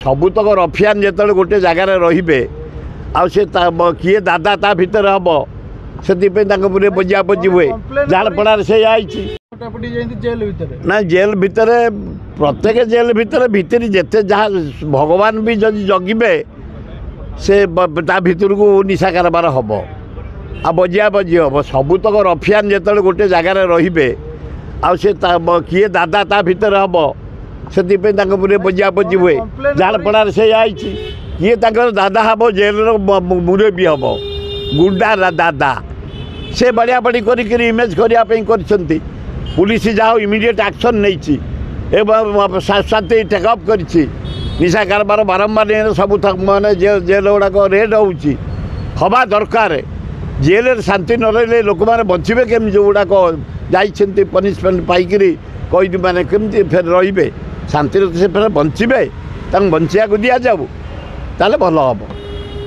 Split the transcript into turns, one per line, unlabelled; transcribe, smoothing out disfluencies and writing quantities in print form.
ସବୁତକ ରଫିଆନ ଯେତେବେଳେ ଗୋଟେ ଜାଗାରେ ରହିବେ, ଆଉ ସେ କିଏ ଦାଦା ତା ଭିତରେ ହେବ, ସେଥିପାଇଁ ତାଙ୍କ ଉପରେ ବଜିଆବଜି ହୁଏ। ଝାଡ଼ପଡ଼ାରେ ସେଇଆ ହେଇଛି ନା? ଜେଲ୍ ଭିତରେ, ପ୍ରତ୍ୟେକ ଜେଲ୍ ଭିତରେ ଭିତରେ ଯେତେ ଯାହା ଭଗବାନ ବି ଯଦି ଜଗିବେ, ସେ ତା ଭିତରକୁ ନିଶା କାରବାର ହେବ ଆଉ ବଜିଆ ବଜି ହେବ। ସବୁତକ ରଫିଆନ ଯେତେବେଳେ ଗୋଟେ ଜାଗାରେ ରହିବେ, ଆଉ ସେ କିଏ ଦାଦା ତା ଭିତରେ ହେବ, ସେଥିପାଇଁ ତାଙ୍କ ଉପରେ ବଜିଆବଜି ହୁଏ। ଝାଡ଼ପଡ଼ାରେ ସେଇଆ ହେଇଛି। କିଏ ତାଙ୍କର ଦାଦା ହେବ? ଜେଲ୍ର ମୁରବୀ ହେବ, ଗୁଣ୍ଡା ଦାଦା। ସେ ବଢ଼ିଆ ବଢ଼ି କରିକିରି ଇମେଜ୍ କରିବା ପାଇଁ କରିଛନ୍ତି। ପୁଲିସ ଯାହା ହଉ ଇମିଡ଼ିଏଟ୍ ଆକ୍ସନ୍ ନେଇଛି ଏବଂ ଶାନ୍ତି ଟେକଅପ୍ କରିଛି। ନିଶା କାରବାର ବାରମ୍ବାର ସବୁ ମାନେ ଜେଲ୍ ଗୁଡ଼ାକ ରେଡ୍ ହେଉଛି, ହେବା ଦରକାର। ଜେଲ୍ରେ ଶାନ୍ତି ନ ରହିଲେ ଲୋକମାନେ ବଞ୍ଚିବେ କେମିତି? ଯେଉଁଗୁଡ଼ାକ ଯାଇଛନ୍ତି ପନିସମେଣ୍ଟ ପାଇକିରି କଏଦୀମାନେ କେମିତି ଫେର ରହିବେ ଶାନ୍ତିରେ? ସେ ଫେର ବଞ୍ଚିବେ, ତାଙ୍କୁ ବଞ୍ଚିବାକୁ ଦିଆଯାଉ, ତାହେଲେ ଭଲ ହେବ।